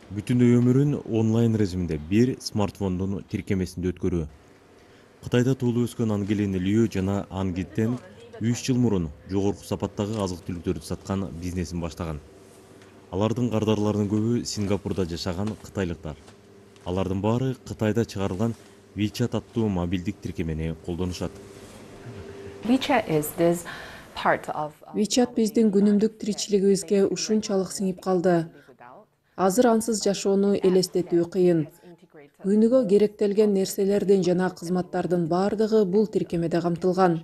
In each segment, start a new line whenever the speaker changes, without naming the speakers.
Бүтүндөй өмүрүн онлайн режиминде бир смартфондун тиркемесинде өткөрүү. Кытайда туулуп өскөн Ангелина Лю жана Ангиттен 3 жыл мурун жогорку сапаттагы азык-түлүктөрдү саткан бизнесин баштаган. Алардын кардарларынын көбү Сингапурда жашаган кытайлыктар. Алардын баары Кытайда чыгарылган WeChat аттуу мобилдик тиркемени колдонушат.
WeChat биздин күнүмдүк тиричилигибизге ушунчалык сиңип калды. Азыр ансыз жашоону элестетүү кыйын. Күнүгө керектелген нерселердин жана кызматтардын баардыгы бул тиркемеде камтылган.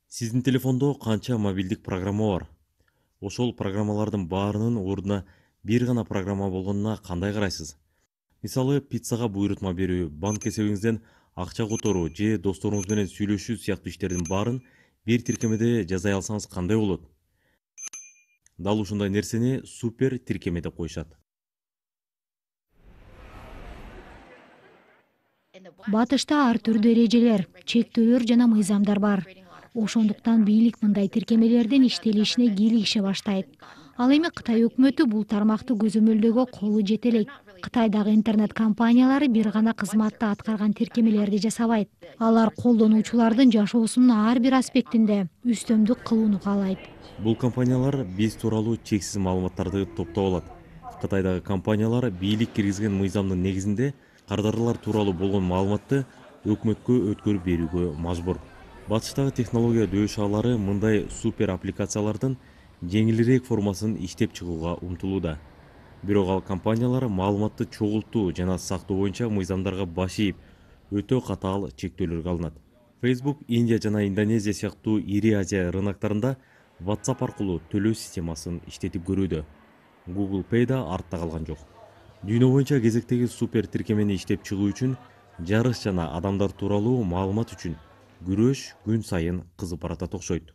Сиздин телефондо канча мобилдик программа бар? Ошол программалардын баарынын ордуна бир гана программа болгонуна кандай карайсыз? Мисалы, пиццага буйрутма берүү, банк эсебиңизден акча которуу же досторуңуз менен сүйлөшүү сыяктуу иштердин баарын бир тиркемеде жасай алсаңыз кандай болот? Дал ушундай нерсени супер тиркеме деп коюшат.
Батышта ар түрдүү эрежелер, чектөөлөр жана мыйзамдар бар. Ошондуктан бийлик мындай тиркемелердин иштелишине кийлигише баштайт. Ал эми Кытай өкмөтү бул тармакты көзөмөлдөөгө колу жете элек. Кытайдагы интернет компаниялары бир гана кызматты аткарган тиркемелерди жасабайт. Алар колдонуучулардын жашоосунун ар бир аспектинде үстөмдүк кылууну каалайт.
Бул компаниялар биз тууралуу чексиз маалыматтарды топтоп алат. Кытайдагы компаниялар бийлик киргизген мыйзамдын негизинде кардарлар тууралуу болгон маалыматты өкмөткө өткөрүп берүүгө мажбур. Батыштагы технология дөшаалары мындай супер аппликациялардын жеңилирээк формасын иштеп чыгууга умтулууда. Бирок ал компаниялар маалыматты чогултуу жана сактоо боюнча мыйзамдарга баш ийип, өтө катаал чектөөлөргө алынат. Facebook, Индия жана Индонезия сыяктуу ири Азия рыноктарында WhatsApp аркылуу төлөө системасын иштетип көрүүдө. Google Pay да артта калган жок. Дүйнө боюнча кезектеги супер тиркемени иштеп чыгуу үчүн жарыш жана адамдар тууралуу маалымат үчүн күрөш күн сайын кызып баратат окшойт.